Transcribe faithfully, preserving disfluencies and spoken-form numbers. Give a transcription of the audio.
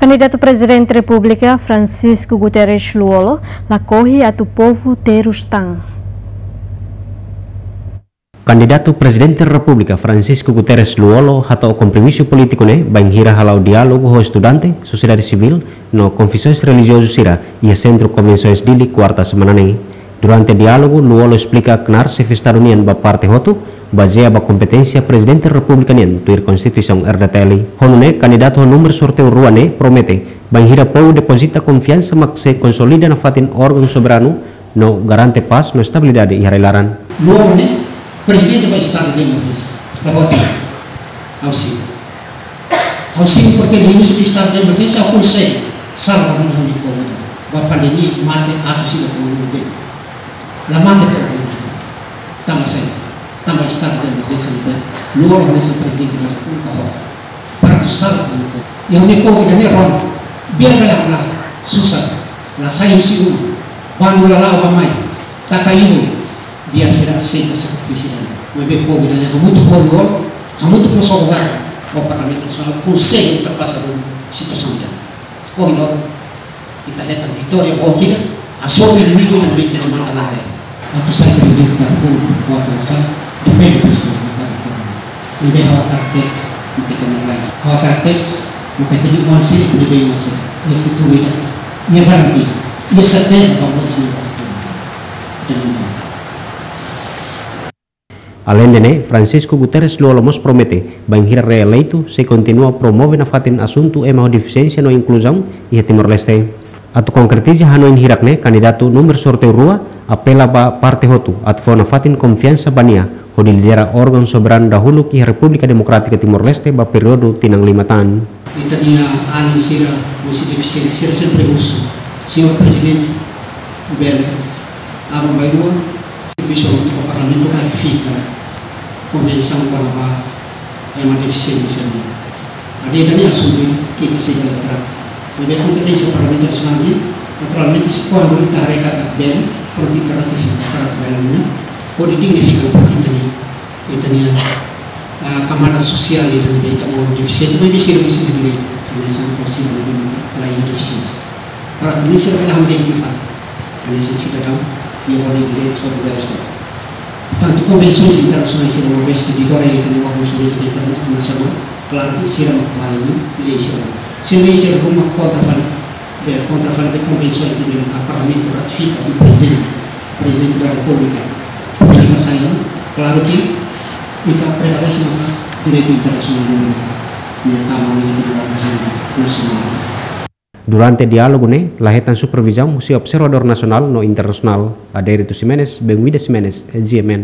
Kandidatu Prezidente Repúblika Francisco Guterres Lú-Olo lakohi atu povu terus tan. Kandidatu Prezidente Repúblika Francisco Guterres Lú-Olo hato'o kompromisu polítiku ne'e bainhira hala'o diálogu ho estudante, sosiedade sivíl, no konfesaun relijiozu sira iha Sentru Konvensaun Dili, kuarta semana ne'e. Durante diálogu, Lú-Olo esplika knaar xefe Estadu nian ba parte hotu, bazeia ba kompeténsia Prezidente Repúblika nian tuir Konstituisaun R D T L. Ho nune'e, kandidatu ho númeru sorteiu rua ne'e promete, bainhira povu depozita konfiansa mak sei konsolida nafatin órgaun soberanu, no garante pás no estabilidade iha rai-laran. Lú-Olo ne'e Prezidente ba estadu de emerjénsia. La vota. Ha'u simu. Ha'u simu porque liuhusi estadu de emerjénsia ha'u konsege salva vida ha'u-nia povu. Ba pandemia mate atus ida puluh ribu. La mate to'o ohin. Tanba saida? Tanba estadu de emerjénsia ne'ebé Lú-Olo hanesan Prezidente da Repúblika halo para atu salva ha'u-nia povu. I ha'u-nia povu ida-ne'e rona. Biar bele ha'u la susar. La sai husi uma. Bandu la la'o bá-mai. Taka ibun. Biar sira aseita sakrifísiu ida-ne'e. Maibé povu ida-ne'e hamutuk ho Lú-Olo, hamutuk ho sira governu, ho Parlamentu Nasionál, konsege ultrapasa duni situasaun ida-ne'e. Ohin loron, ita hetan vitória boot ida, hasoru inimigu ida ne'ebé ita matan haree. Atu sai Prezidente da Repúblika, atu la sai, depende depois do resultado do governo. Ne'ebé ha'u hakarak tebes, mak ita-nia rai. Ha'u hakarak tebes, mak ita-nia oan sira, ita-nia bei'oan sira. Iha futuru ida, iha garantia, iha serteza ba moris ne'e ba futuru. Ita-nia oan. Aleinde ne'e, Francisco Guterres Lú-Olo mós promete, bainhira reeleitu, sei kontinua promove nafatin asuntu ema ho defisiénsia no inkluzaun iha Timor-Leste. Atu konkretiza hanoin hirak ne'e, kandidatu númeru sorteiu rua apela ba parte hotu atu fó nafatin konfiansa ba nia hodi lidera órgaun soberanu dahuluk iha Repúblika Demokrátika Timor-Leste ba períodu tinan lima tan. Ita-nia alin sira husi defisiente sira sempre husu, Señór Prezidente, bele aban-bainrua servisu hamutuk ho Parlamentu ratifika konvensaun kona-ba ema defisiente sira-ne'e. Ida-ne'e asuntu ida ke ita sei bele trata. Maibé kompeténsia Parlamentu Nasionál nian, naturalmente, se kuandu ita haree katak bele, prontu ita ratifika para atu bele nune'e, hodi dignifika nafatin ita-nia, ita-nia, ah, kamada sosiál ida ne'ebé ita monu defisiente, maibé sira mós iha direitu, hanesan ho sira ne'ebé maka la iha defisiénsia. Para atu nune'e sira bele hamriik nafatin hanesan sidadaun, iha orden direitus ba governu sira. Portantu, konvensaun internasionál sira, uma vez que vigora iha ita-nia órgaun jurídiku internasionál, klaru ke sira mak vale ninia lei sira. Se lei sira ruma kontra fali, be, kontra fali be konvensaun ne'ebé maka Parlamentu ratifika i Prezidente, Prezidente da Repúblika publika sai, klaru ke ita prevalese maka direitu internasionál ne'ebé maka nia tama iha ita-nia órgaun jurídiku nasionál. Durante diálogu ne'e, la hetan supervizaun husi observadór nasionál no internasionál. Adérito Ximenes, Benguida Ximenes, G M N.